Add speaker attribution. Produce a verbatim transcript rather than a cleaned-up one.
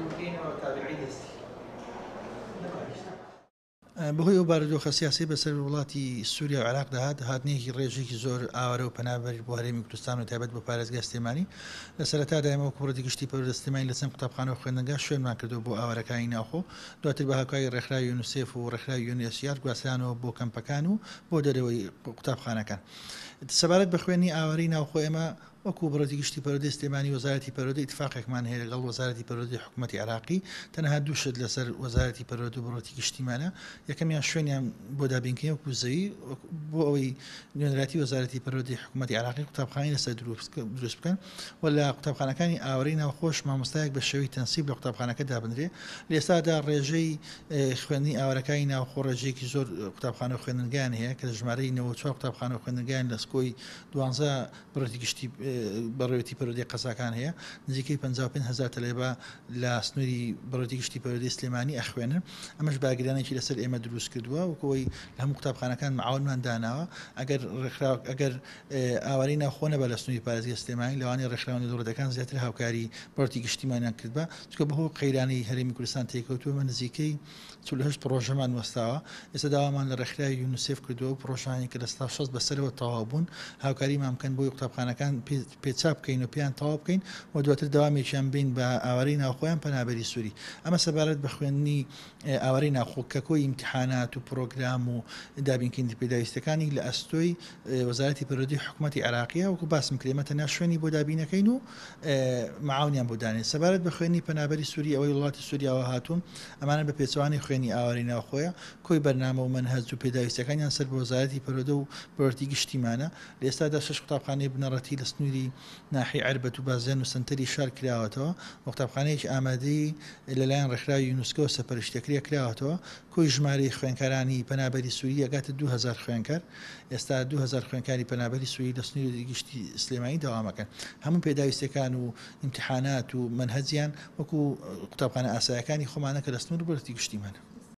Speaker 1: بکەینەوە تابعی دەستی.
Speaker 2: بەهۆی ئەو بارودۆخە سیاسی بەسەر وڵاتی سووریا و عێراق دەهات، هاتنێکی ڕێژێکی زۆر ئاوارە و پەنابەر بۆ هەرێمی کوردستان و تایبەت بۆ پارێزگای سلێمانی. لە سەرەتادا ئێمە وەکو بەڕێوەبەری گشتی پەروەردە سلێمانی لە چەند قوتابخانە و خوێندنگا شوێنمان کردەوە بۆ ئاوارەکانی ناوخۆ، دواتر بە هاوکاری ڕێکخراوی یونیسێف و ڕێکخراوی یونێسیار گواسترانەوە بۆ کەمپەکان و بۆ دەرەوەی قوتابخانەکان. سەبارەت بە خوێندنی ئاوارەی ناوخۆ، ئێمە وەکو بەڕێوەبەری گشتی پەروەردەی سلێمانی وەزارەتی پەروەردە ئیتفاقێکمان هەیە لەگەڵ وەزارەتی پەروەردەی حکوومەتی عێراقی. تەنها دوو شت لەسەر وەزارەتی پەروەردە و بەڕێوەبەری گشتیمانە. یەکەمیان شوێنیان بۆ دابینکردن وەکو زەوی بۆ ئەوەی نوێنەرایەتی وەزارەتی پەروەردەی حکوومەتی عێراقی قوتابخانەی لەسەر دروست بکەن و لە قوتابخانەکانی ئاوارەی ناوخۆش مامۆستایەک بە شێوەی تەنسیب لە قوتابخانەکە دابنرێ. لە ئێستادا ڕێژەی خوێندنی ئاوارەکانی ناوخۆ ڕێژەیەکی زۆر قوتابخانە و خوێندنگایان هەیە کە ژمارەی نەوەد و چوار قوتابخانە و خوێندنگایان لە سکۆی دوانزە بەڕێوەبەری گشتی بەڕێوەبەری پەروەردەی قەزاکان هەیە. نزیکەی پەنجا و پێنج هەزار تەلەبە لە سنووری بەڕێوەبەری گشتی پەروەردەی سلێمانی ئەخوێنن. ئەمەش باگرانێکی لەسەر ئێمە دروست کردووە وەکەوەی لە هەموو قوتابخانەکان معاونمان داناوە. ئەگەر ڕێکخراو ئەگەر ئاوارەی ناوخۆ نەبە لە سنووری پارێزگای سلێمانی، لەوانەیە ڕێکخراوە نێودەوڵەتیەکان زیاتر هاوکاری بەڕێوەبەری گشتیمانیان کردبا، چونکە بەهۆی قەیرانی هەرێمی کوردستان تێکەوتووە. ئێمە نزیکەی چل و هەشت پرۆژەمان وەستاوە. ئێستا داوامان لە ڕێکخراوی یونیسێف کردووە و پرۆژانێک کە لە سەدا شەست بەسەرەوە تەواو بوون هاوکاریمان بکەن بۆی قوتابخانەکان پێچا بکەین و پێیان تەواو بکەین و دواتر داوامێکیان بین بە ئاوارەی ناوخۆیان پەنابەری سووری. ئەمە سەبارەت بە خوێندنی ئاوارەی ناوخۆ کە کۆی ئیمتیحانات و پرۆگرام و دابینکردنی پێداویستەکانی لە ئەستۆی وەزارەتی پەروەردەی حکوومەتی عێراقیە. وەکو باسم کرد ئێمە تەنیا شوێنی بۆ دابینەکەین و معاونیان بۆ دانێن. سەبارەت بە خوێندنی پەنابەری سووری، ئەوەی وڵاتی سووریاوە هاتوون، ئەمانە بە پێچەوانەی خوێندنی ئاوارەی ناوخۆیە. کۆی بەرنامە و مەنهەج و پێداویستەکانیان سەر بە وەزارەتی پەروەردە و بەڕێوەبەری گشتیمانە. لە ئێستادا شەش قوتابخانەی بنەڕەتی لە سنووری ناحیەی عەربەت و بازیان و سەنتەری شار کراوەتەوە و قوتابخانەیەکی ئامادەی لەلایەن ڕێکخراوی یونسکۆ سەرپەرشتیەکرێ کراوەتەوە. کۆی ژمارەی خوێندکارانی پەنابەری سووری ئەگاتە دوو هەزار خوێندکار. ئێستا دوو هەزار خوێندکاری پەنابەری سووری لە سنووری گشتی سلێمانی داوامەکەن. هەموو پێداویستەکان و ئیمتیحانات و مەنهەجیان وەکو قوتابخانە ئاسایەکانی خۆمانە کە لە سنوور بەڕێوەبەری گشتیمانە.